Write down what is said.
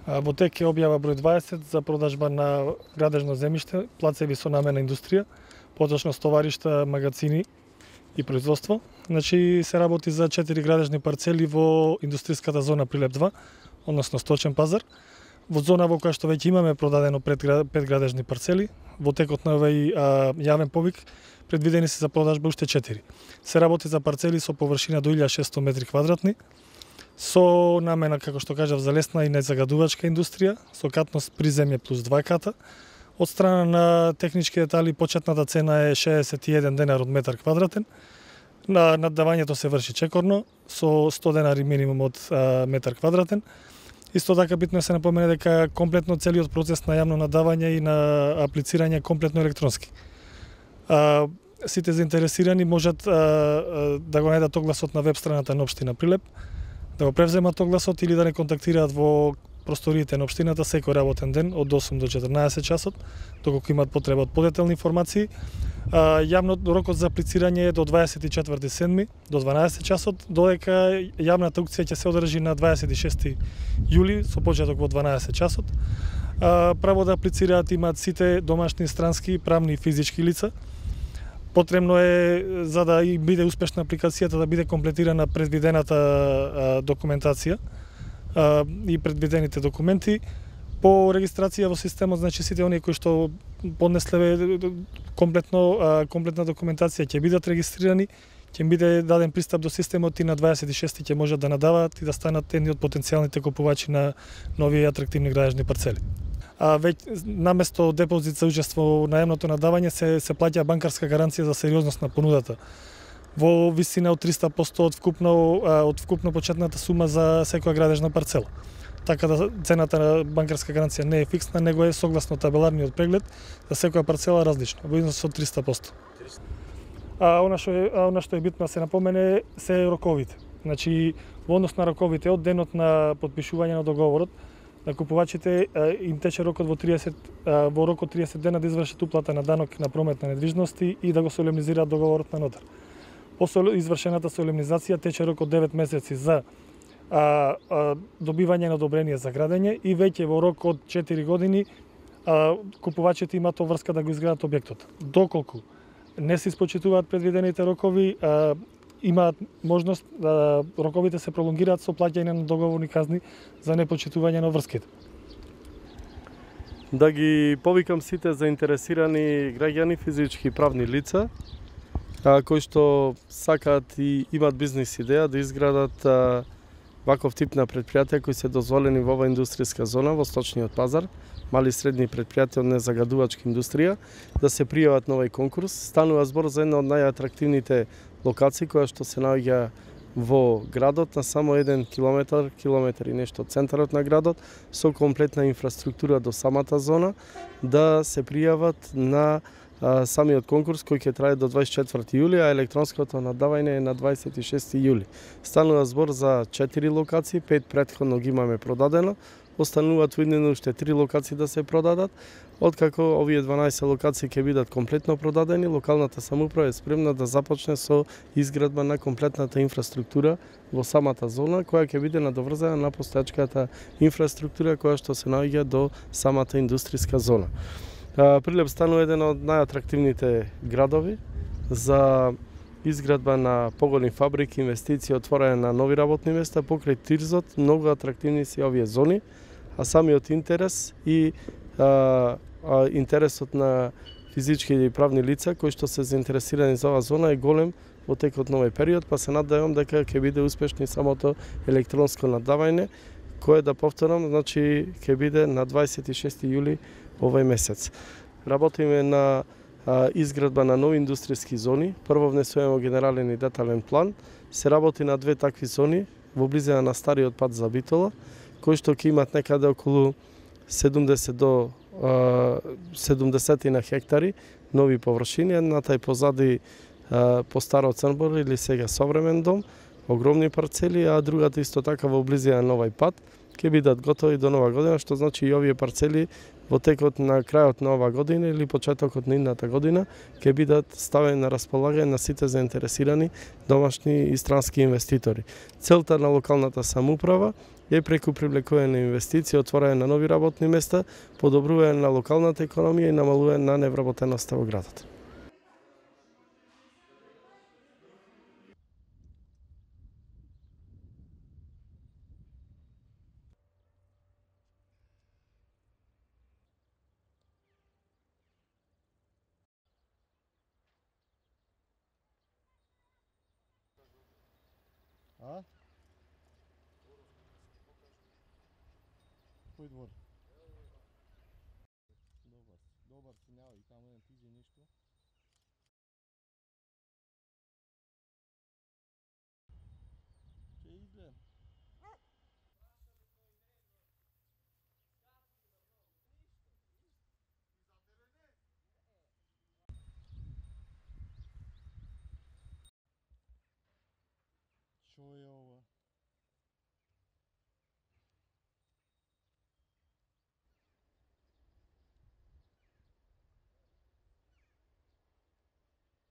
Во тек е објава број 20 за продажба на градежно земјиште, плацеви со намена индустрија, поточно стоваришта, магазини и производство. Значи се работи за 4 градежни парцели во индустријската зона Прилеп 2, односно сточен пазар. Во зона во која што веќе имаме продадено 5 градежни парцели, во текот на овој јавен повик предвидени се за продажба уште 4. Се работи за парцели со површина до 1600 метри квадратни, со намена, како што кажав, за лесна и незагадувачка индустрија, со катност приземје плюс 2 ката. Од страна на технички детали, почетната цена е 61 денар од метар квадратен. На наддавањето се врши чекорно, со 100 денари минимум од метар квадратен. Исто така битно е се напомене дека комплетно целиот процес на јавно наддавање и на аплицирање комплетно електронски. Сите заинтересирани можат да го најдат огласот на веб страната на општина Прилеп, да го превземат огласот или да не контактираат во просториите на општината секој работен ден од 8 до 14 часот, доколку имаат потреба од подетелни информации. Јавно рокот за аплицирање е до 24/7 до 12 часот, додека јавната аукција ќе се одржи на 26 јули со почеток во 12 часот. Право да аплицираат имаат сите домашни, странски, правни и физички лица. Потребно е, за да и биде успешна апликацијата, да биде комплетирана предвидената документација и предвидените документи. По регистрација во системот, значи сите оние кои што поднесле комплетна документација ќе бидат регистрирани, ќе биде даден пристап до системот и на 26 ќе можат да надаваат и да станат едни од потенцијалните купувачи на нови атрактивни градежни парцели. Веќе наместо депозит за учество во наемното надавање се плаќа банкарска гаранција за сериозност на понудата во висина од 300% од вкупно почетната сума за секоја градежна парцела. Така да цената на банкарска гаранција не е фиксна, него е согласно табеларниот преглед за секоја парцела различно, во износ од 300%. Она што е битно да се напомене се роковите. Значи, во однос на роковите, од денот на подпишување на договорот, на купувачите им тече рокот во рок од 30 дена да извршат уплата на данок на промет на недвижности и да го солемнизираат договорот на нотар. После извршената солемнизација тече рок од 9 месеци за добивање на одобрение за градење и веќе во рок од 4 години купувачите имаат обврска да го изградат објектот. Доколку не се испочитуваат предвидените рокови, имаат можност да роковите се пролонгираат со плаќање на договорни казни за непочитување на врските. Да ги повикам сите заинтересирани граѓани, физички и правни лица, кои што сакаат и имаат бизнис идеја да изградат ваков тип на предпријатија кои се дозволени во оваа индустријска зона во сточниот пазар, мали и средни предпријатија од незагадувачка индустрија, да се пријават на овој конкурс. Станува збор за една од најатрактивните локации која што се наоѓа во градот на само 1 километар и нешто од центарот на градот, со комплетна инфраструктура до самата зона, да се пријават на самиот конкурс кој ќе трае до 24 јули, а електронското наддавање е на 26 јули. Станува збор за 4 локации, 5 претходно ги имаме продадено, остануваат уиднено уште 3 локации да се продадат. Откако овие 12 локации ќе бидат комплетно продадени, локалната самоуправа е спремна да започне со изградба на комплетната инфраструктура во самата зона, која ќе биде надоврзана на постојачката инфраструктура која што се наоѓа до самата индустријска зона. Прилеп станува еден од најатрактивните градови за изградба на поголеми фабрики, инвестиции, отворање на нови работни места покрај Тирзот. Многу атрактивни се овие зони, а самиот интерес и интересот на физички и правни лица кои што се заинтересирани за оваа зона е голем во текот на овој период, па се надевам дека ќе биде успешно и самото електронско наддавање, кое да повторам, значи ќе биде на 26 јули овој месец. Работиме на изградба на нови индустријски зони. Прво внесуваме генерален и детален план. Се работи на 2 такви зони во близина на стариот пат за Битола, кои што ќе имат некаде околу 70 до 70 на хектари нови површини, едната е позади по Старо Црнбор или сега современ дом, огромни парцели, а другата исто така во близина на овој пат ќе бидат готови до нова година, што значи и овие парцели во текот на крајот на оваа година или почетокот на идната година ќе бидат ставени на располагање на сите заинтересирани домашни и странски инвеститори. Целта на локалната самоуправа и преку привлекување на инвестиции, отворање на нови работни места, подобрување на локалната економија и намалување на невработеноста во градот. А? Кој двор? Добар си, няма и таму не тиđe ништо. Ќе изгледам. Што е ова?